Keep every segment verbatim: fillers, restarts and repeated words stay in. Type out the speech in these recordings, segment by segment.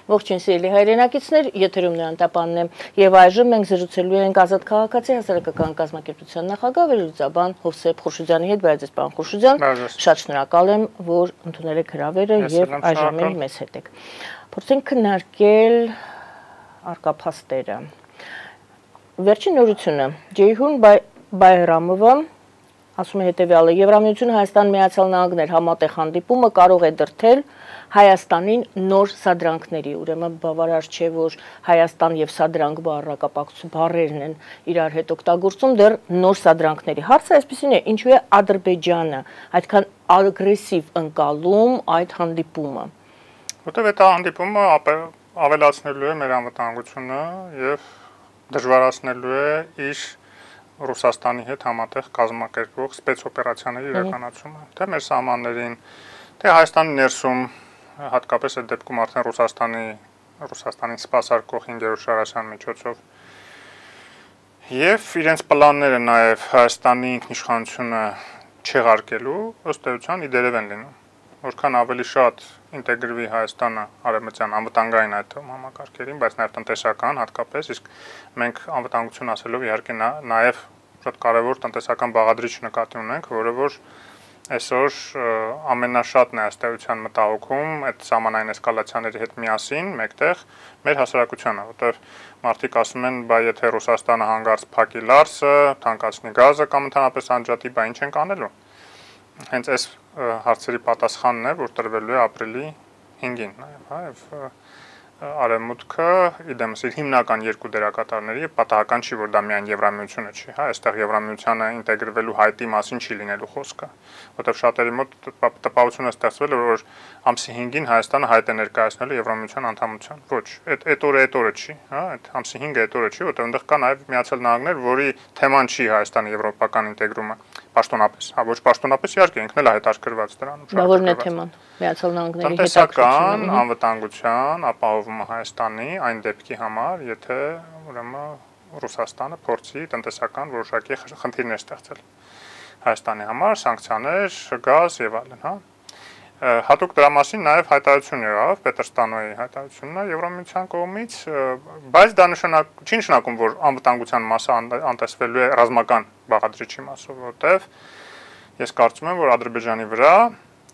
Ողջույն սիրելի հայրենակիցներ, եթերում Նոյան Տապանն է, եւ այժմ մենք զրուցելու ենք Ազատ քաղաքացի հասարակական կազմակերպության նախագահ վերլուծաբան Հովսեփ Խուրշուդյանի հետ, բայց պարոն Խուրշուդյան, շատ շնորհակալ եմ, որ ընդունել եք հրավերը եւ այժմ էլ մեզ հետ եք։ Փորձենք քննարկել արկափաստերը։ Վերջին նորությունը Ջեյհուն Բայրամովը ասում է հետևյալը. Եվրամիությունը Հայաստան Միացյալ Նահանգներ համատեղ հանդիպումը կարող է դրդել Հայաստանին նոր սադրանքների, ուրեմն բավարար չէ, որ Հայաստան եւ սադրանք բառակապակցություն բառերն են իրար հետ օգտագործում, դեռ նոր սադրանքների։ Հարցը այսպեսին է, ինչու է Ադրբեջանը այդքան ագրեսիվ ընկալում այդ հանդիպումը։ Որտեւ այդ հանդիպումը ավելացնելու է մեր անվտանգությունը եւ դժվարացնելու է իր Ռուսաստանի հետ համատեղ կազմակերպվող սպեցօպերացիաների իրականացումը, թե մեր սահմաններին, թե Հայաստանի ներսում, հատկապես այդ դեպքում արդեն Ռուսաստանի Ռուսաստանին սպասարկող հինգերորդ շարաշրջան միջոցով եւ իրենց պլանները նաեւ Հայաստանի ինքնիշխանությունը չեղարկելու ըստ էության իդերև են լինում, որքան ավելի շատ ինտեգրվի Հայաստանը արևմտյան անվտանգային այդ համակարգերին, բայց նաեւ տնտեսական հատկապես, իսկ մենք անվտանգություն ասելով իհարկե նաեւ շատ կարևոր տնտեսական բաղադրիչ նկատի ունենք, որը որ այսօր ամենաշատն է ըստ էության մտահոգում այդ սահմանային էսկալացիաների հետ միասին մեկտեղ մեր հասարակությանը, որտեղ մարդիկ ասում են, բայ եթե Ռուսաստանը հանգարց փակի լարսը, թանկացնի գազը կամ ընդհանրապես անջատի, բայ ինչ ենք անելու։ Հենց այս հարցերի պատասխանն է, որ տրվելու է ապրիլի հինգին նաև, հա, եւ Արևմուտքը իդեմս իր հիմնական երկու դերակատարների եւ պատահական չի, որ դա միայն Եվրամիությունը չի, հա, այստեղ Եվրամիությանը ինտեգրվելու հայտի մասին չի լինելու խոսքը, որտեղ շատերի մոտ տպավորություն է ստեղծվել, որ ամսի հինգին Հայաստանը հայտ է ներկայացնելու Եվրամիության անդամության։ Ոչ, այդ այդ օրը այդ օրը չի, հա, այդ ամսի հինգը այդ օրը չի, որտեղ այնտեղ կա նաեւ Միացյալ Նահանգներ, որի թեման չի Հայաստանի եվրոպական ինտեգրումը պաշտոնապես, հա, ոչ պաշտոնապես իհարկե ինքն էլ է հետաքրքրված դրանում։ Դա որն է թեման։ Միացյալ Նահանգների հետաքրքրության, անվտանգության ապահովումը Հայաստանի այն դեպքի համար, եթե ուրեմն Ռուսաստանը փորձի տնտեսական որոշակի խնդիրներ ստեղծել Հայաստանի համար, սանկցիաներ, գազ եւ այլն, հա։ Հատուկ դրա մասին նաև հայտարարություն եղավ, Պետրստանոյի հայտարարությունն է Եվրամիության կողմից, բայց դա նշանակ չի նշանակում, որ անվտանգության մասը անտեսվելու է ռազմական բաղադրիչի մասով, որտեվ ես կարծում եմ, որ Ադրբեջանի վրա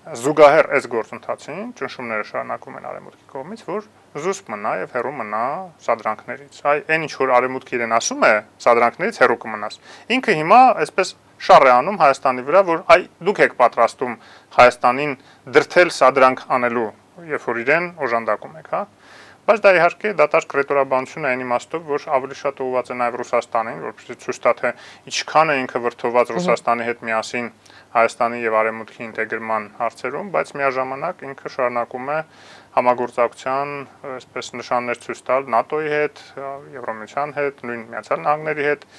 զուգահեռ այս գործընթացին ճնշումները շարունակվում են Արևմուտքի կողմից, որ զուսպ մնա եւ հեռու մնա սադրանքներից։ Այ այն ինչ որ Արևմուտքը իրեն ասում է, սադրանքներից հեռու կմնաս։ Ինքը հիմա այսպես շար է անում Հայաստանի վրա, որ այ դուք եք պատրաստում Հայաստանին դրթել սադրանք անելու, երբ որ իրեն օժանդակում եք, հա։ Բայց դա իհարկե դատարկ ռետորաբանություն է այն իմաստով, որ ավելի շատ ուղղված է նաև Ռուսաստանին, որպեսզի ցույց տա, թե ինչքան է ինքը վրդոված Ռուսաստանի հետ միասին Հայաստանի եւ Արևմուտքի ինտեգրման հարցերում, բայց միաժամանակ ինքը շարունակում է համագործակցության, այսպես նշաններ ցույց տալ ՆԱՏՕ-ի հետ, Եվրամիության հետ, նույն Միացյալ Նահանգների հետ,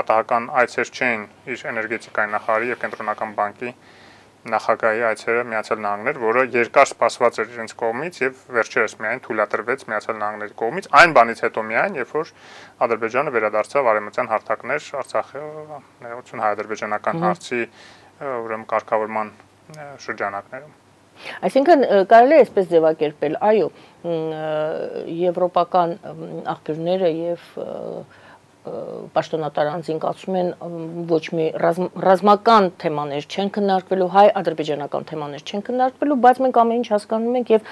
պատահական այցեր չեն իր էներգետիկայի նախարարի եւ կենտրոնական բանկի նախագահի այցերը Միացյալ Նահանգներ, որը երկար սպասված էր իրենց կողմից եւ վերջերս միայն թույլատրվեց Միացյալ Նահանգների կողմից, այն բանից հետո միայն, երբ որ Ադրբեջանը վերադարձավ արևմտյան հարթակներ Արցախի ներողություն հայ-ադրբեջանական հարցի ուրեմն կարգավորման շրջանակներում։ Այսինքն կարելի է այսպես ձևակերպել, այո, եվրոպական աղբյուրները եւ պաշտոնատար անձինք ասում են ոչ մի ռազմական թեմաներ չեն քննարկվելու, հայ-ադրբեջանական թեմաներ չեն քննարկվելու, բայց մենք ամեն ինչ հասկանում ենք եւ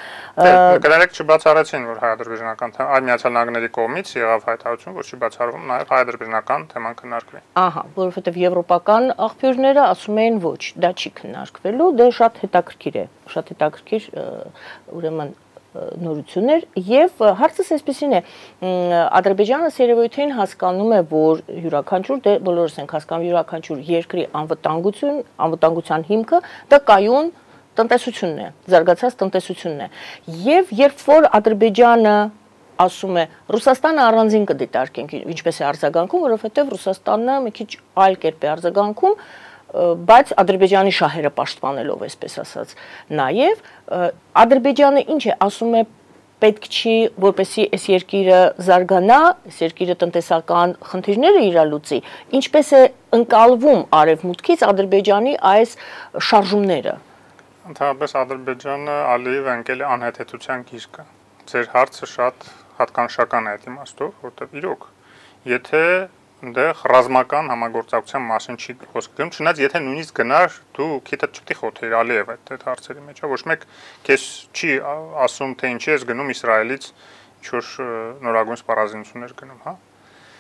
կներեք չբացառեցին, որ հայ-ադրբեջանական թեման այլ Միացյալ Նահանգների կողմից եղավ հայտարարություն, որ չի բացառվում նաեւ հայ-ադրբեջանական թեման քննարկվի։ Ահա, որովհետեւ եվրոպական աղբյուրները ասում են ոչ, դա չի քննարկվելու, դա շատ հետաքրքիր է, շատ հետաքրքիր ուրեմն նորություններ եւ հարցս այսպեսին է Ադրբեջանը երևույթին հասկանում է որ յուրաքանչյուր դե բոլորս ենք հասկանում յուրաքանչյուր երկրի անվտանգություն անվտանգության հիմքը դա կայուն տնտեսությունն է զարգացած տնտեսությունն է եւ երբ որ Ադրբեջանը ասում է Ռուսաստանը առանձին կդիտարկենք ինչպես է արձագանքում որովհետեւ Ռուսաստանը մի քիչ այլ կերպ է արձագանքում բայց Ադրբեջանի շահերը պաշտպանելով, այսպես ասած, նաև Ադրբեջանը ինչ է, ասում է պետք չի, որպեսզի այս երկիրը զարգանա, այս երկիրը տնտեսական խնդիրները իրալուծի, ինչպես է ընկալվում արևմուտքից Ադրբեջանի այս շարժումները։ Ընդհանրապես Ադրբեջանը Ալիևը ընկել է անհեթեթության գիրկը, ձեր հարցը շատ հատկանշական է այդ իմաստով, որտեղ իրոք, եթե այնտեղ ռազմական համագործակցության մասին չի խոսք գնում, չնայած եթե նույնիսկ գնար, դու քիթը չպետք է խոթեր Ալիև այդ այդ հարցերի մեջ, ոչ մեկ քեզ չի ասում, թե ինչի ես գնում Իսրայելից ինչ-որ նորագույն սպառազինություններ գնում, հա։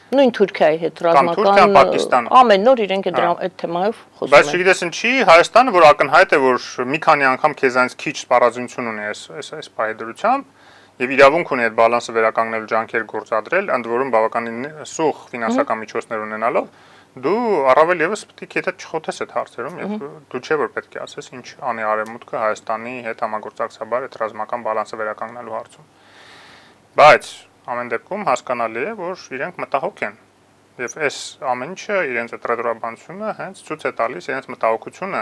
Նույն Թուրքիայի հետ ռազմական ամեն նոր իրենք այդ թեմայով խոսում են։ Բայց չգիտես ինչի, Հայաստանը, որ ակնհայտ է, որ մի քանի անգամ քեզանից քիչ սպառազինություն ունի այս այս այս պայդրությամբ, եւ իրավունք ունի այդ բալանսը վերականգնելու ջանքեր գործադրել, ընդ որում բավականին սուղ ֆինանսական միջոցներ ունենալով, դու առավել եւս պետք է քեթը չխոթես այդ հարցերում եւ դու չէ որ պետք է ասես ինչ անի Արևմուտքը Հայաստանի հետ համագործակցաբար այդ ռազմական բալանսը վերականգնելու հարցում։ Բայց ամեն դեպքում հասկանալի է, որ իրենք մտահոգ են եւ այս ամեն ինչը իրենց այդ ռետրոբանությունը հենց ցույց է տալիս իրենց մտահոգությունը,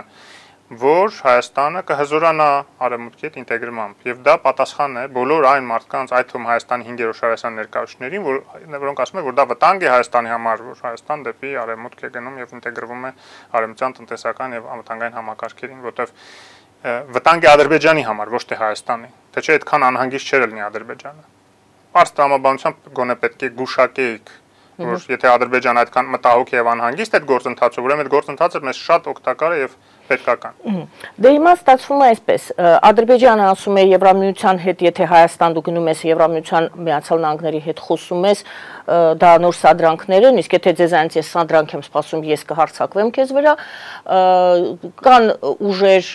որ Հայաստանը կհզորանա Արևմուտքի հետ ինտեգրմամբ եւ դա պատասխան է բոլոր այն մարդկանց, այդ թվում Հայաստանի հինգերորդ շարասան ներկայացուցիչներին, որ որոնք ասում են, որ դա վտանգ է Հայաստանի համար, որ Հայաստան դեպի Արևմուտք է գնում եւ ինտեգրվում է արևմտյան տնտեսական եւ անվտանգային համակարգերին, որտեղ վտանգ է Ադրբեջանի համար, ոչ թե Հայաստանի, թե չէ այդքան անհանգիստ չէր լինի Ադրբեջանը։ Պարզ տրամաբանությամբ գոնե պետք է գուշակեիք, որ եթե Ադրբեջանը այդքան մտահոգ եւ անհանգիստ է այդ գործընթացը, ուրեմն այդ գործընթացը մեզ շատ օգտակար է եւ պետքական։ Դե հիմա ստացվում է այսպես, Ադրբեջանը ասում է Եվրամիության հետ, եթե Հայաստան դու գնում ես Եվրամիության Միացյալ Նահանգների հետ խոսում ես, դա նոր սադրանքներ են, իսկ եթե ձեզանից ես սադրանք եմ սպասում, ես կհարձակվեմ քեզ վրա, կան ուժեր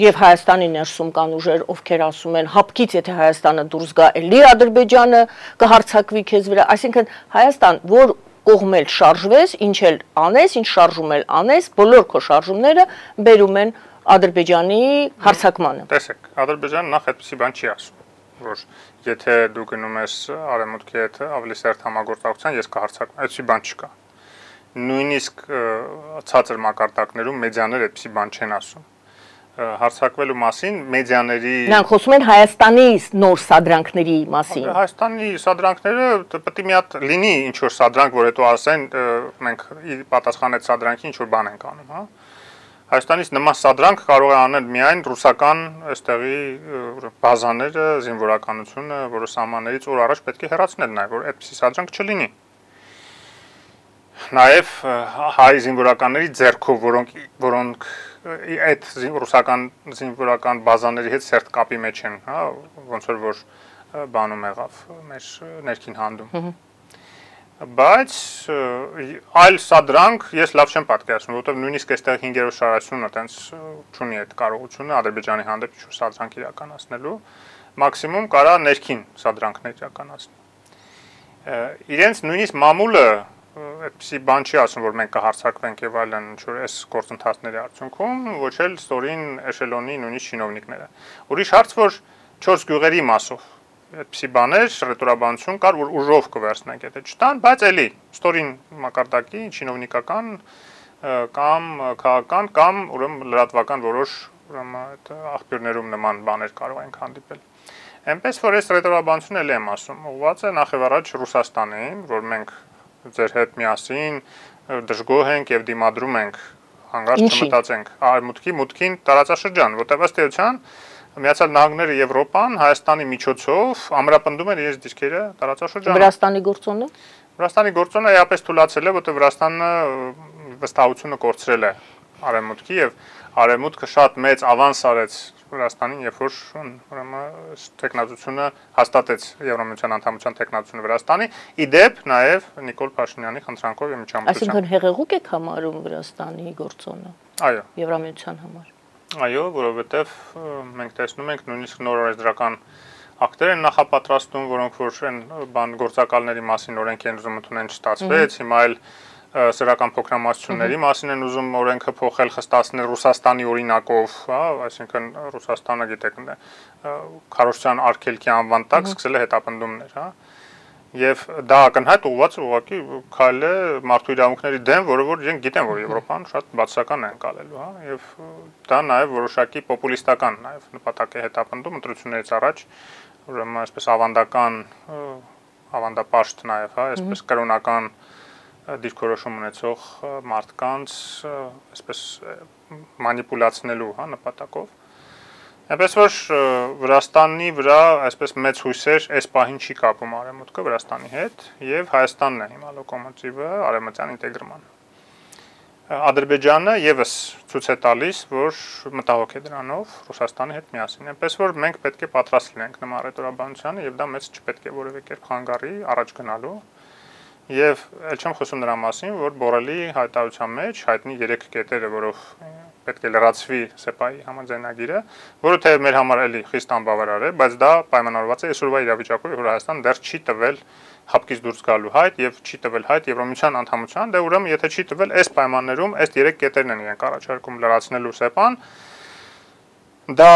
եւ Հայաստանի ներսում կան ուժեր, ովքեր ասում են հապկից եթե Հայաստանը դուրս գա, էլի Ադրբեջանը կհարձակվի քեզ վրա, այսինքն Հայաստան, որ կողմել շարժվես, ինչ էլ անես, ինչ շարժում էլ անես, բոլոր քո շարժումները բերում են Ադրբեջանի հարձակմանը։ Տեսեք, Ադրբեջանը նախ այդպեսի բան չի ասում, որ եթե դու գնում ես Արևմուտքի հետ ավելի սերտ համագործակցության, ես կհարձակվեմ, այդպեսի բան չկա։ Նույնիսկ ցածր մակարդակներում մեդիաները այդպեսի բան չեն ասում։ Հարցակվելու մասին մեդիաների Նրանք խոսում են Հայաստանի նոր սադրանքների մասին։ Հայաստանի սադրանքները պետք է մի հատ լինի ինչ որ սադրանք, որ հետո ասեն մենք պատասխան այդ սադրանքի ինչ որ բան ենք անում, հա։ Հայաստանից նման սադրանք կարող է անել միայն ռուսական այստեղի բազաները, զինվորականությունը, որը սահմաններից օր առաջ պետք է հեռացնել նաև, որ այդպիսի սադրանք չլինի։ Նաև հայ զինվորականների ձեռքով, որոնք որոնք այդ ռուսական զինվորական բազաների հետ սերտ կապի մեջ են, հա, ոնց որ որ բանում եղավ մեր ներքին հանդում։ Բայց այլ սադրանք ես լավ չեմ պատկերացնում, որովհետև նույնիսկ այստեղ հինգերորդ շարասյունը տենց չունի այդ կարողությունը Ադրբեջանի հանդեպ ինչ-որ սադրանք իրականացնելու, մաքսիմում կարա ներքին սադրանքներ իրականացնի։ Իրենց նույնիսկ մամուլը այդպիսի բան չի ասում, որ մենք կհարձակվենք եւ այլն ինչ-որ այս գործընթացների արդյունքում, ոչ էլ ստորին էշելոնի նույնիսկ չինովնիկները։ Ուրիշ հարց, որ չորս գյուղերի մասով այդպիսի բաներ, ռետորաբանություն կար, որ ուժով կվերցնենք, եթե չտան, բայց էլի ստորին մակարդակի չինովնիկական կամ քաղաքական կամ ուրեմն լրատվական որոշ ուրեմն այդ աղբյուրներում նման բաներ կարող ենք հանդիպել։ Այնպես որ այս ռետորաբանությունը էլի եմ ասում, ուղղված է նախ եւ առաջ Ռուսաստանին, որ մենք ձեր հետ միասին դժգոհ ենք եւ դիմադրում ենք հանգարց չմտածենք արևմուտքի մուտքին տարածաշրջան, որտեղ ըստ էության Միացյալ Նահանգները Եվրոպան Հայաստանի միջոցով ամրապնդում են իրենց դիրքերը տարածաշրջանում։ Վրաստանի գործոնը Վրաստանի գործոնը էապես թույլատրել է, որտեղ Վրաստանը վստահությունը կորցրել է արևմուտքի եւ արևմուտքը շատ մեծ ավանս արեց Վրաստանին, երբ որ ուրեմն տեխնատությունը հաստատեց Եվրամիության անդամության տեխնատությունը Վրաստանի, իդեպ նաև Նիկոլ Փաշինյանի խնդրանքով եւ միջամտությամբ։ Այսինքն հեղեղուկ եք համարում Վրաստանի գործոնը։ Այո։ Եվրամիության համար։ Այո, որովհետեւ մենք տեսնում ենք նույնիսկ նոր օրենսդրական ակտեր են նախապատրաստում, որոնք որ են բան գործակալների մասին օրենք են ուզում ընդունեն չստացվեց, հիմա այլ սրական փոքրամասնությունների մասին են ուզում օրենքը փոխել, խստացնել Ռուսաստանի օրինակով, հա, այսինքն Ռուսաստանը գիտեք, քարոզչական արգելքի անվան տակ սկսել է հետապնդումներ, հա։ Եվ դա ակնհայտ ուղղված ուղղակի քայլ է մարդու իրավունքների դեմ, որը որ իրենք գիտեն, որ Եվրոպան շատ բացասական է անցալելու, հա, եւ դա նաեւ որոշակի պոպուլիստական նաեւ նպատակ է հետապնդում ընտրություններից առաջ, ուրեմն այսպես ավանդական ավանդապաշտ նաեւ, հա, այսպես կրոնական դիրքորոշում ունեցող մարդկանց այսպես մանիպուլացնելու, հա, նպատակով։ Այնպես որ Վրաստանի վրա այսպես մեծ հույսեր այս պահին չի կապում Արևմուտքը Վրաստանի հետ եւ Հայաստանն է հիմա լոկոմոտիվը արևմտյան ինտեգրման։ Ադրբեջանը եւս ցույց է տալիս, որ մտահոգ է դրանով Ռուսաստանի հետ միասին։ Այնպես որ մենք պետք է պատրաստ լինենք նման ռետորաբանությանը եւ դա մեծ չպետք է որևէ կերպ խանգարի առաջ գնալու։ Եվ ել չեմ խոսում նրա մասին, որ Բորելի հայտարարության մեջ հայտնի երեք կետերը, որով պետք է լրացվի սեպայի համաձայնագիրը, որը թեև մեր համար էլի խիստ անբավարար է, բայց դա պայմանավորված է այսօրվա իրավիճակով, որ Հայաստան դեռ չի տվել հապկից դուրս գալու հայտ եւ չի տվել հայտ Եվրոմիության անդամության, դե ուրեմն եթե չի տվել այս պայմաններում այս երեք կետերն են իրենք առաջարկում լրացնելու սեպան, դա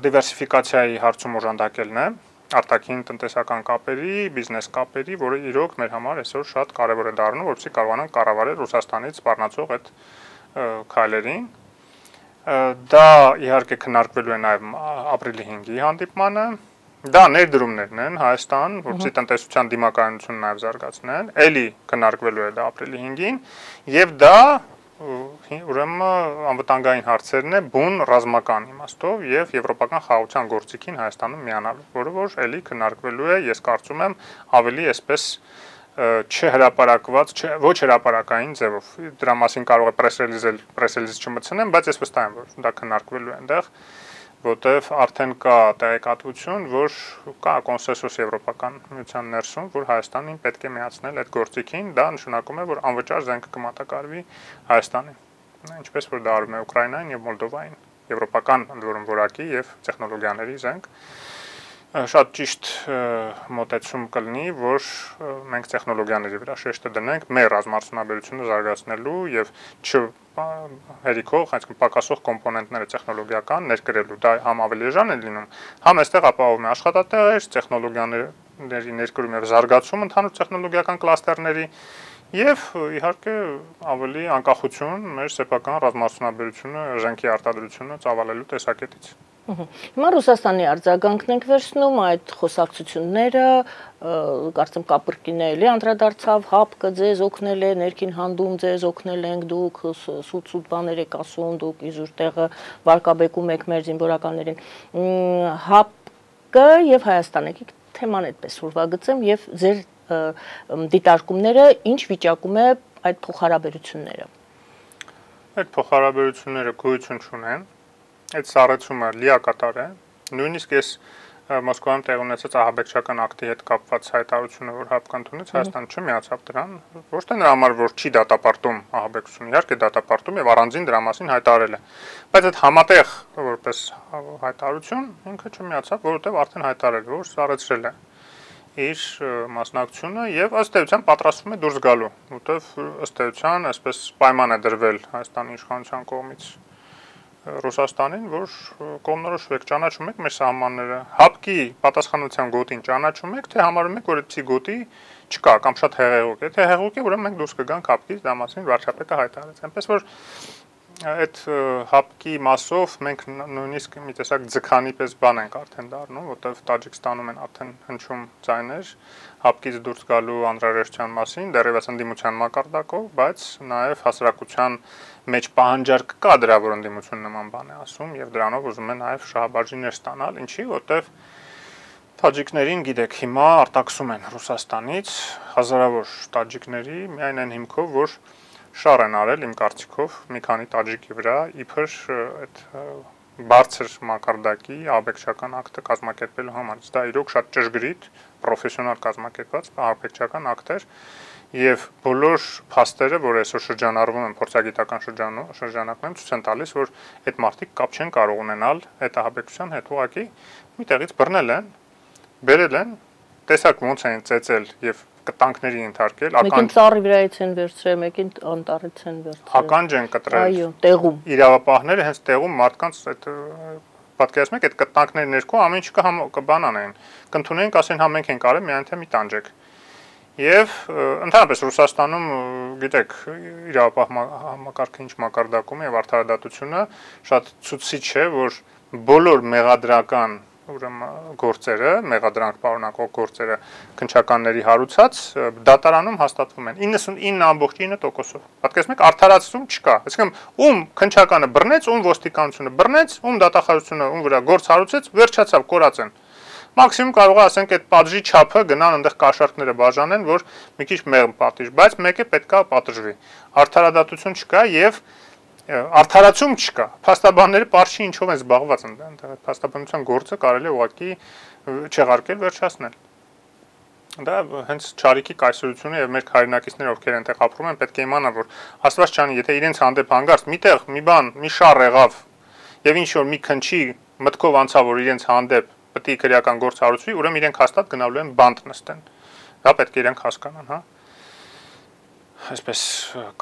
դիվերսիֆիկացիայի հարցում օժանդակելն է, արտաքին տնտեսական կապերի, բիզնես կապերի, որը իրոք մեր համար այսօր շատ կարևոր է դառնում, որպեսզի կարողանանք կառավարել Ռուսաստանից սպառնացող այդ քայլերին։ Դա իհարկե քննարկվելու է նաև ապրիլի հինգի հանդիպմանը։ Դա ներդրումներն են Հայաստան, որպեսզի տնտեսության դիմակայունությունը նաև զարգացնեն, էլի քննարկվելու է դա ապրիլի հինգին, եւ դա ուրեմն անվտանգային հարցերն է բուն ռազմական իմաստով եւ եվրոպական խաղաղության գործիքին Հայաստանում միանալու, որը որ էլի քննարկվելու է, ես կարծում եմ, ավելի այսպես չհրապարակված, ոչ հրապարակային ձևով։ Դրա մասին կարող է պրեսրելիզել, պրեսրելիզ չմտցնեմ, բայց ես վստահ եմ, որ դա քննարկվելու է այնտեղ, որտեվ արդեն կա տեղեկատվություն, որ կա կոնսենսուս եվրոպական միության ներսում, որ Հայաստանին պետք է միացնել այդ գործիքին, դա նշանակում է, որ անվճար զենքը կմատակարարվի Հայաստանին, ինչպես որ դա արվում է Ուկրաինային եւ Մոլդովային, եվրոպական ընդ որում որակի եւ տեխնոլոգիաների զենք։ Շատ ճիշտ մոտեցում կլինի, որ մենք տեխնոլոգիաների վրա շեշտը դնենք մեր ռազմարտունաբերությունը զարգացնելու եւ չ հերիքող, այսինքն պակասող կոմպոնենտները տեխնոլոգիական ներկրելու, դա համ ավելի էժան է լինում, համ այստեղ ապահովում է աշխատատեղեր, տեխնոլոգիաների ներկրում եւ զարգացում ընդհանուր տեխնոլոգիական կլաստերների եւ իհարկե ավելի անկախություն մեր սեփական ռազմարտունաբերությունը, զենքի արտադրությունը ծավալելու տեսակետից։ Հիմա Ռուսաստանի արձագանքն ենք վերցնում այդ խոսակցությունները, կարծեմ Կապրկինը էլի անդրադարձավ, հապկը ձեզ օգնել է, ներքին հանդում ձեզ օգնել ենք, դուք սուտ-սուտ բաներ եք ասում, դուք իզուր տեղը վարկաբեկում եք մեր զինվորականներին։ Հապկը եւ Հայաստանը, եկեք թեման այդպես ուրվագծեմ եւ ձեր դիտարկումները ինչ վիճակում է այդ փոխհարաբերությունները։ Այդ փոխհարաբերությունները գոյություն չունեն։ Այդ սառեցումը լիակատար է, նույնիսկ ես Մոսկվայում տեղ ունեցած ահաբեկչական ակտի հետ կապված հայտարարությունը, որ հապկը ընդունեց, Հայաստանը չմիացավ դրան, ոչ թե նրա համար, որ չի դատապարտում ահաբեկչությունը, իհարկե դատապարտում եւ առանձին դրա մասին հայտարարել է, բայց այդ համատեղ որպես հայտարարություն ինքը չմիացավ, որովհետեւ արդեն հայտարարել է, որ սառեցրել է իր մասնակցությունը եւ ըստ էության պատրաստվում է դուրս գալու, որովհետեւ ըստ էության այսպես պայման է դրվել Հայաստանի իշխանության կողմից Ռուսաստանին, որ կողմնորոշվեք, ճանաչում եք մեր սահմանները, հապկի պատասխանության գոտին ճանաչում եք, թե համարում եք, որ այդպիսի գոտի չկա կամ շատ հեղեղուկ է, թե հեղեղուկ է, ուրեմն մենք դուրս կգանք հապկից, դա մասին վարչապետը հայտարարեց։ Այնպես որ այդ հապկի մասով մենք նույնիսկ մի տեսակ ձգանի պես բան ենք արդեն դառնում, որտեղ Տաջիկստանում են արդեն հնչում ձայներ հապկից դուրս գալու անհրաժեշտության մասին, դեռևս ընդդիմության մակարդակով, բայց նաև հասարակության մեջ պահանջարկ կա դրա, որ ընդդիմություն նման բան է ասում եւ դրանով ուզում է նաև շահաբաժիններ ստանալ, ինչի որտեղ տաջիկներին գիտեք հիմա արտաքսում են Ռուսաստանից հազարավոր տաջիկների միայն այն հիմքով, որ շար են արել իմ կարծիքով մի քանի տաջիկի վրա իբր այդ բարձր մակարդակի աբեկչական ակտը կազմակերպելու համար։ Դա իրոք շատ ճշգրիտ, պրոֆեսիոնալ կազմակերպված աբեկչական ակտ էր եւ բոլոր փաստերը, որ այսօր շրջանառվում են փորձագիտական շրջանակներում, ցույց են տալիս, որ այդ մարդիկ կապ չեն կարող ունենալ այդ ահաբեկչության հետ, ուղղակի մի տեղից բռնել են, բերել են, տեսակ ոնց են ծեծել եւ կտանքների ենթարկել, ականջ ծառի վրայից են վերցրել, մեկին անտառից են վերցրել։ Ականջ են կտրել։ Այո, տեղում։ Իրավապահները հենց տեղում մարդկանց այդ պատկերացնում եք, այդ կտանքների ներքո ամեն ինչ կբան անեն։ Կընդունենք, ասեն, հա մենք ենք արել, միայն թե մի տանջեք։ Եվ ընդհանրապես Ռուսաստանում, գիտեք, իրավապահ համակարգը ինչ մակարդակում է եւ արդարադատությունը շատ ցուցիչ է, որ բոլոր մեղադրական ուրեմն գործերը, մեղադրանք պարունակող գործերը քննչականների հարուցած դատարանում հաստատվում են իննսունինը ամբողջ ինը տոկոսով։ Պատկերացնեք, արդարացում չկա։ Այսինքն, ում քննչականը բռնեց, ում ոստիկանությունը բռնեց, ում դատախազությունը ում վրա գործ հարուցեց, վերջացավ, կորած են։ Մաքսիմում կարող է ասենք այդ պատժի չափը գնան այնտեղ կաշառքները բաժանեն, որ մի քիչ մեղմ պատիժ, բայց մեկը պետքա պատժվի։ Արդարադատություն չկա եւ արդարացում չկա։ Փաստաբանները պարզի ինչով են զբաղված այնտեղ, փաստաբանության գործը կարելի է ուղղակի չեղարկել, վերջացնել։ Դա հենց Չարիքի կայսրությունը եւ մեր հայրենակիցները, ովքեր այնտեղ ապրում են, պետք է իմանան, որ Աստված չանի, եթե իրենց հանդեպ հանգարց միտեղ մի բան, մի շառ եղավ եւ ինչ որ մի քնչի մտքով անցավ, որ իրենց հանդեպ պետք է քրեական գործ հարուցվի, ուրեմն իրենք հաստատ գնալու են բանտ նստեն։ Դա պետք է իրենք հասկանան, հա։ Այսպես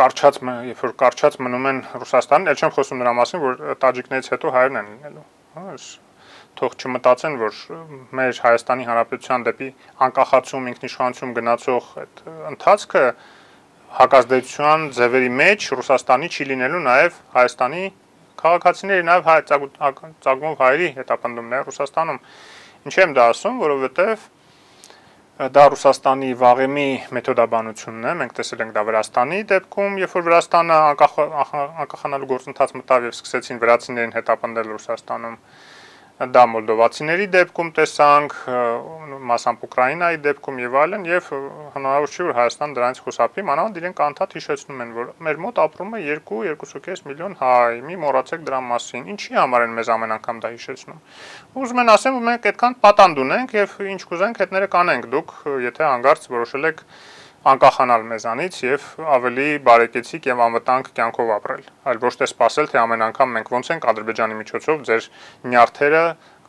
կարճած, երբ որ կարճած մնում են Ռուսաստանին, ել չեմ խոսում նրա մասին, որ տաջիկներից հետո հայերն են լինելու, հա, թող չմտածեն, որ մեր Հայաստանի Հանրապետության դեպի անկախացում, ինքնիշխանություն գնացող այդ ընթացքը հակազդեցության ձևերի մեջ Ռուսաստանի չի լինելու նաև Հայաստանի քաղաքացիների, նաև հայ ծագումով հայերի հետապնդումն է Ռուսաստանում։ Ինչի եմ դա ասում, որովհետև դա Ռուսաստանի վաղեմի մեթոդաբանությունն է, մենք տեսել ենք դա Վրաստանի դեպքում, երբ որ Վրաստանը անկախանալու գործընթաց մտավ եւ սկսեցին վրացիներին հետապնդել Ռուսաստանում, դա մոլդովացիների դեպքում տեսանք, մասամբ Ուկրաինայի դեպքում եւ այլն, եւ հնարավոր չի որ Հայաստան դրանից խուսափի, մանավանդ իրենք անդադ հիշեցնում են, որ մեր մոտ ապրում է երկու երկու կես միլիոն հայ, մի մոռացեք դրա մասին, ինչի համար են մեզ ամեն անգամ դա հիշեցնում։ Ուզում են ասեմ, որ մենք այդքան պատանդ ունենք եւ ինչ կուզենք հետները կանենք, դուք եթե հանգարց որոշել եք անկախանալ մեզանից եւ ավելի բարեկեցիկ եւ անվտանգ կյանքով ապրել, այլ ոչ թե սпасել, թե ամեն անգամ մենք ոնց ենք Ադրբեջանի միջոցով ձեր նյարդերը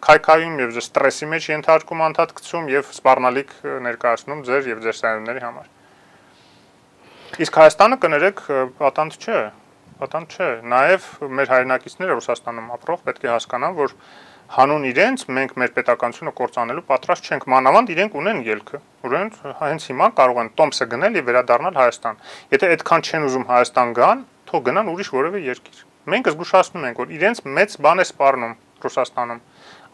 քայքայում եւ ձեր ստրեսի մեջ ենթարկում անդադ գցում եւ սպառնալիք ներկայացնում ձեր եւ ձեր սայունների համար։ Իսկ Հայաստանը կներեք պատանդ չէ, պատանդ չէ, նաեւ մեր հայրենակիցները Ռուսաստանում ապրող պետք է հասկանան, որ հանուն իրենց մենք մեր պետականությունը կործանելու պատրաստ չենք, մանավանդ իրենք ունեն ելքը, ուրեմն հենց հիմա կարող են տոմսը գնել եւ վերադառնալ Հայաստան։ Եթե այդքան չեն ուզում Հայաստան գան, թող գնան ուրիշ որևէ երկիր։ Մենք զգուշացնում ենք, որ իրենց մեծ բան է սպառնում Ռուսաստանում։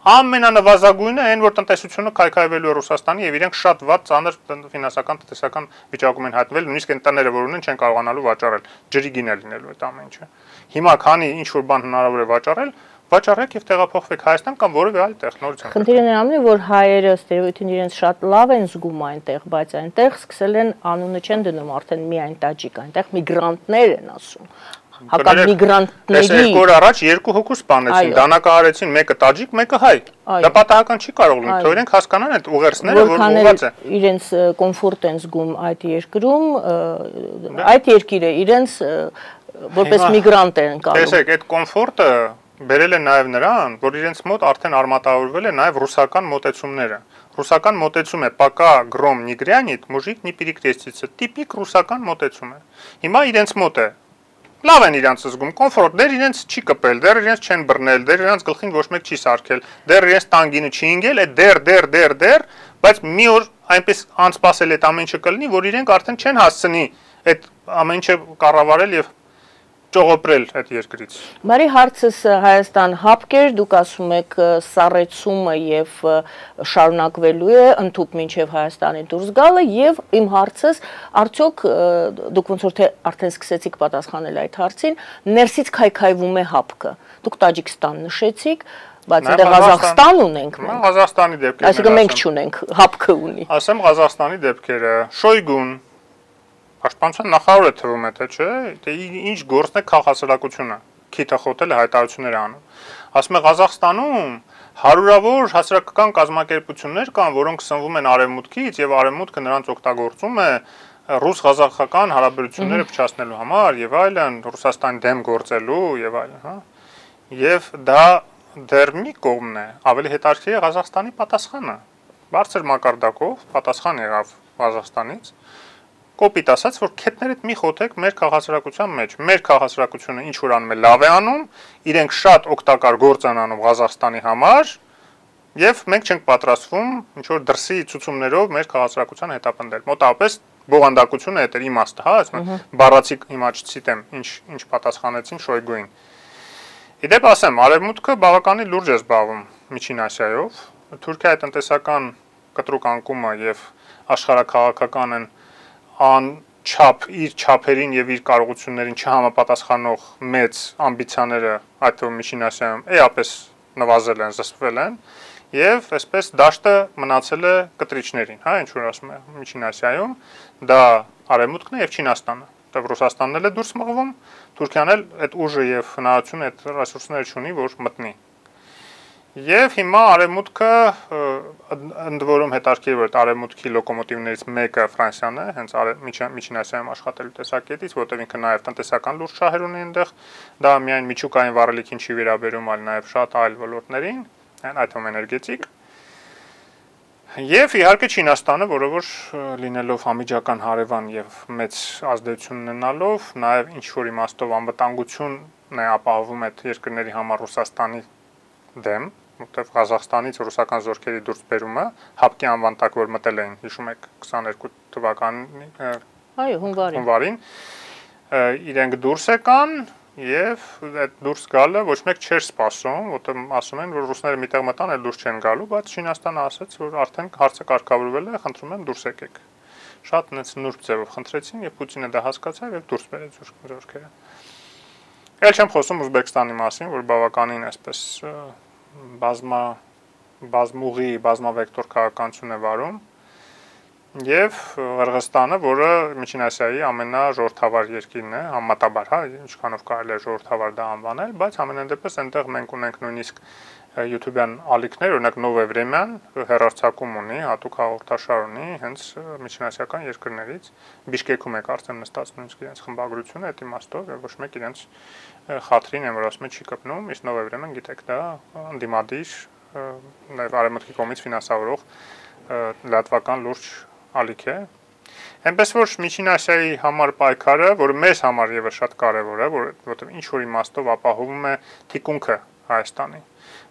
Ամենանվազագույնը այն, որ տնտեսությունը քայքայվելու է Ռուսաստանի եւ իրենք շատ վատ ծանր ֆինանսական տնտեսական վիճակում են հայտնվել, նույնիսկ այն տները, որ ունեն, չեն կարողանալու վաճառել, ջրի գին է լինելու այդ ամեն ինչը։ Հիմա քանի ինչ որ բան հնարավոր է վաճառել, վաճառեք եւ տեղափոխվեք Հայաստան կամ որևէ այլ տեղ նորից։ Խնդիրը նրանում է, որ հայերը ստերեոտիպին իրենց շատ լավ են զգում այնտեղ, բայց այնտեղ սկսել են անունը չեն դնում արդեն միայն տաջիկ, այնտեղ միգրանտներ են ասում։ Հակառակ միգրանտների։ Այս երկու օր առաջ երկու հոգու սպանեցին, դանակահարեցին, մեկը տաջիկ, մեկը հայ։ Դա պատահական չի կարող լինել, թող իրենք հասկանան այդ ուղերձները, որ ուղղված է։ Իրենց կոմֆորտ են զգում այդ երկրում, այդ երկիրը իրենց որպես միգրանտ են կարում։ Տեսեք, այդ կոմֆորտը բերել է նաև նրան, որ իրենց մոտ արդեն արմատավորվել է նաև ռուսական մոտեցումները։ Ռուսական մոտեցում է «Պակա գրոմ նիգրյանիտ, մուժիկ նի պիրիկտեսիցը», տիպիկ ռուսական մոտեցում է։ Հիմա իրենց մոտ է։ Լավ են իրանց զգում, կոմֆորտ, դեռ իրենց չի կպել, դեռ իրենց չեն բռնել, դեռ իրենց գլխին ոչ մեկ չի սարքել, դեռ իրենց տանգինը չի ընկել, այդ դեռ, դեռ, դեռ, դեռ, բայց մի օր այնպես անսպասել այդ ամեն ինչը կլինի, որ իրենք արդեն չեն հասցնի այդ ամեն ինչը կառավարել եւ ճողոպրել այդ երկրից։ Բարի հարցս Հայաստան հապկեր, դուք ասում եք սառեցումը եւ շարունակվելու է ընդհուպ մինչեւ Հայաստանի դուրս գալը եւ իմ հարցս արդյոք դուք ոնց որ թե արդեն սկսեցիք պատասխանել այդ հարցին, ներսից քայքայվում է հապկը։ Դուք Տաջիկստան նշեցիք, բայց դե Ղազախստան ունենք մենք։ Ղազախստանի դեպքերը։ Այսինքն մենք չունենք, հապկը ունի։ Ասեմ Ղազախստանի դեպքերը, Շոյգուն Պաշտպանության նախարարը թվում է, թե չէ, թե ինչ գործն է քաղաքացիությունը, քիթը խոտել է հայտարարություններ անում։ Ասում է Ղազախստանում հարյուրավոր հասարակական կազմակերպություններ կան, որոնք սնվում են արևմուտքից եւ արևմուտքը նրանց օգտագործում է ռուս-ղազախական հարաբերությունները փչացնելու համար եւ այլն, Ռուսաստանի դեմ գործելու եւ այլն, հա։ Եվ դա դեռ մի կողմն է, ավելի հետաքրքիր է Ղազախստանի պատասխանը։ Բարձր մակարդակով պատասխան եղավ Ղազախստանից։ Կոպիտ ասած, որ քետներդ մի խոթեք մեր քաղաքացիական մեջ։ Մեր քաղաքացիությունը ինչ որ անում է լավ է անում, իրենք շատ օգտակար գործ են անում Ղազախստանի համար, եւ մենք չենք պատրաստվում ինչ որ դրսի ցուցումներով մեր քաղաքացիական հետապնդել։ Մոտավորապես բովանդակությունը է դեր իմաստը, հա, ասում եմ, բառացի հիմա չցիտեմ, ինչ ինչ պատասխանեցին Շոյգուին։ Իդեպ ասեմ, արևմուտքը բավականին լուրջ է զբաղվում Միջին Ասիայով, Թուրքիայի տնտեսական կտրուկ անկումը եւ աշխարհաքաղաքական են ան չափ իր չափերին եւ իր կարողություններին չհամապատասխանող մեծ ամբիցիաները այդ թվում Միջին Ասիայում էապես նվազել են, զսպվել են եւ այսպես դաշտը մնացել է կտրիչներին, հա, ինչ որ ասում է Միջին Ասիայում, դա Արևմուտքն է եւ Չինաստանը, որտեղ Ռուսաստանն էլ է դուրս մղվում, Թուրքիան էլ այդ ուժը եւ հնարավորությունը այդ ռեսուրսները չունի, որ մտնի։ Եվ հիմա Արևմուտքը ընդ որում հետաքրքիր որ Արևմուտքի լոկոմոտիվներից մեկը Ֆրանսիան է, հենց Միջին Ասիայում աշխատելու տեսակետից, որտեղ ինքը նաև տնտեսական լուրջ շահեր ունի այնտեղ, դա միայն միջուկային վառելիքին չի վերաբերում, այլ նաև շատ այլ ոլորտներին, այդ թվում էներգետիկ։ Եվ իհարկե Չինաստանը, որը որ լինելով համիջական հարևան եւ մեծ ազդեցություն ունենալով, նաև ինչ որ իմաստով անվտանգությունն է ապահովում այդ երկրների համար Ռուսաստանի դեմ, որտեղ Ղազախստանից ռուսական զորքերի դուրս բերումը հապկի անվան տակ որ մտել էին, հիշում եք քսաներկու թվականին, այո, հունվարին, հունվարին, իրենք դուրս եկան եւ այդ դուրս գալը ոչ մեկ չէր սպասում, որտեղ ասում են, որ ռուսները միտեղ մտան, այլ դուրս չեն գալու, բայց Չինաստանը ասաց, որ արդեն հարցը կարգավորվել է, խնդրում եմ դուրս եկեք։ Շատ նենց նուրբ ձևով խնդրեցին եւ Պուտինը դա հասկացավ եւ դուրս բերեց զորքերը։ Էլ չեմ խոսում Ուզբեկստանի մասին, որ բավականին այսպես բազմա բազմուղի, բազմավեկտոր քաղաքականություն է վարում եւ Ղրղստանը, որը Միջին Ասիայի ամենաժողովրդավար երկիրն է, համատաբար, հա, ինչքանով կարելի է ժողովրդավար դա անվանել, բայց ամենայն դեպս այնտեղ մենք ունենք նույնիսկ YouTube-յան ալիքներ, օրինակ Նովե Վրեմյան հեռարձակում ունի, հատուկ հաղորդաշար ունի, հենց միջինասիական երկրներից, Բիշկեքում է կարծեմ նստած նույնիսկ իրենց խմբագրությունը այդ իմաստով, եւ ոչ մեկ իրենց խաթրին են, որ ասում է չի կպնում, իսկ Նովե Վրեմյան գիտեք դա անդիմադիր, նաեւ արևմուտքի կողմից ֆինանսավորող լատվական լուրջ ալիք է։ Այնպես որ Միջին Ասիայի համար պայքարը, որը մեզ համար եւս շատ կարեւոր է, որովհետեւ ինչ որ իմաստով ապահովում է թիկունքը Հայաստանի,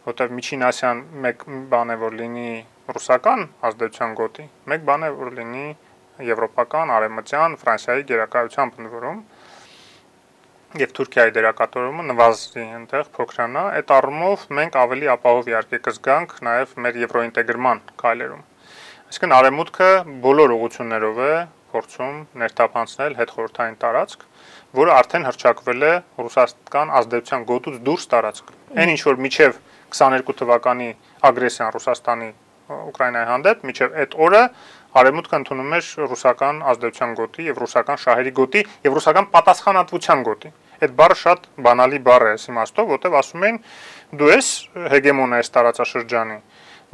որտեղ Միջին Ասիան մեկ բան է որ լինի ռուսական ազդեցության գոտի, մեկ բան է որ լինի եվրոպական, արևմտյան, Ֆրանսիայի գերակայությամբ ընդորում եւ Թուրքիայի դերակատարումը նվազի այնտեղ փոքրանա, այդ առումով մենք ավելի ապահով իհարկե կզգանք նաեւ մեր եվրոինտեգրման քայլերում։ Այսինքն արևմուտքը բոլոր ուղղություններով է փորձում ներթափանցնել հետխորհրդային տարածք, որը արդեն հռչակվել է ռուսական ազդեցության գոտուց դուրս տարածք։ Այն ինչ որ միջև քսաներկու թվականի ագրեսիան Ռուսաստանի Ուկրաինայի հանդեպ, միջև այդ օրը արևմուտքը ընդունում էր ռուսական ազդեցության գոտի եւ ռուսական շահերի գոտի եւ ռուսական պատասխանատվության գոտի։ Այդ բառը շատ բանալի բառ է, այս իմաստով, որտեղ ասում են դու ես հեգեմոն ես տարածաշրջանի,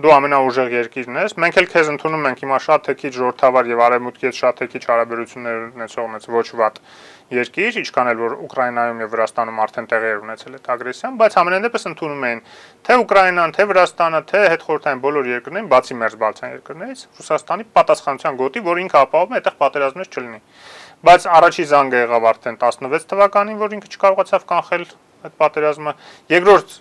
դու ամենաուժեղ երկիրն ես, մենք էլ քեզ ընդունում ենք հիմա շատ թե քիչ ժողովրդավար եւ արևմուտքի հետ շատ թե քիչ հարաբերություններ ունեցող մեծ ոչ վատ երկիր, ինչքան էլ որ Ուկրաինայում եւ Վրաստանում արդեն տեղի էր ունեցել այդ ագրեսիան, բայց ամենայն դեպս ընդունում են թե Ուկրաինան, թե Վրաստանը, թե հետխորհրդային բոլոր երկրներին, բացի մերձբալթյան երկրներից, Ռուսաստանի պատասխանատվության գոտի, որ ինքը ապահովում է այդտեղ պատերազմներ չլինի։ Բայց առաջի զանգը եղավ արդեն տասնվեց թվականին, որ ինքը չկարողացավ կանխել այդ պատերազմը, երկրորդ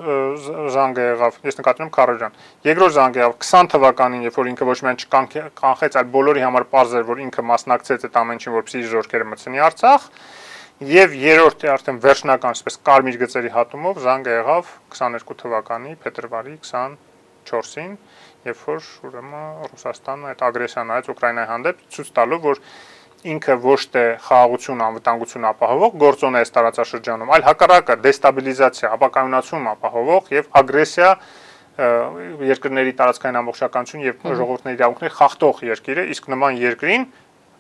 զանգը եղավ, ես նկատում եմ Քարոջան, երկրորդ զանգը եղավ քսան թվականին, երբ որ ինքը ոչ միայն չկանխեց, այլ բոլորի համար պարզ էր, որ ինքը մասնակցեց այդ ամեն ինչին, որպեսզի իր զորքերը մտցնի Արցախ, եւ երրորդը արդեն վերջնական, այսպես կարմիր գծերի հատումով զանգը եղավ քսաներկու թվականի փետրվարի քսանչորսին, երբ որ ուրեմն Ռուսաստանը այդ ագրեսիան արեց Ուկրաինայի հանդեպ, ցույց տալով, որ ինքը ոչ թե խաղաղություն, անվտանգություն ապահովող գործոն է այս տարածաշրջանում, այլ հակառակը դեստաբիլիզացիա, ապակայունացում ապահովող եւ ագրեսիա երկրների տարածքային ամբողջականություն եւ ժողովուրդների իրավունքներ խախտող երկիր է, իսկ նման երկրին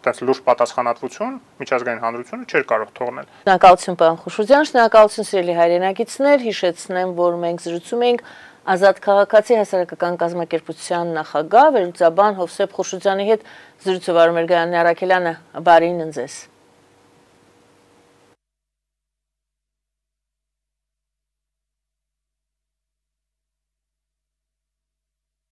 այդպես լուրջ պատասխանատվություն միջազգային հանրությունը չէր կարող թողնել։ Շնորհակալություն պարոն Խուշուձյան, շնորհակալություն սիրելի հայրենակիցներ, հիշեցնեմ, որ մենք զրուցում ենք Ազատ քաղաքացի հասարակական կազմակերպության նախագահ վերլուծաբան Հովսեփ Խուշուձյանի հետ զրույցը վարում էր Գայանե Առաքելյանը, բարին ընձեզ։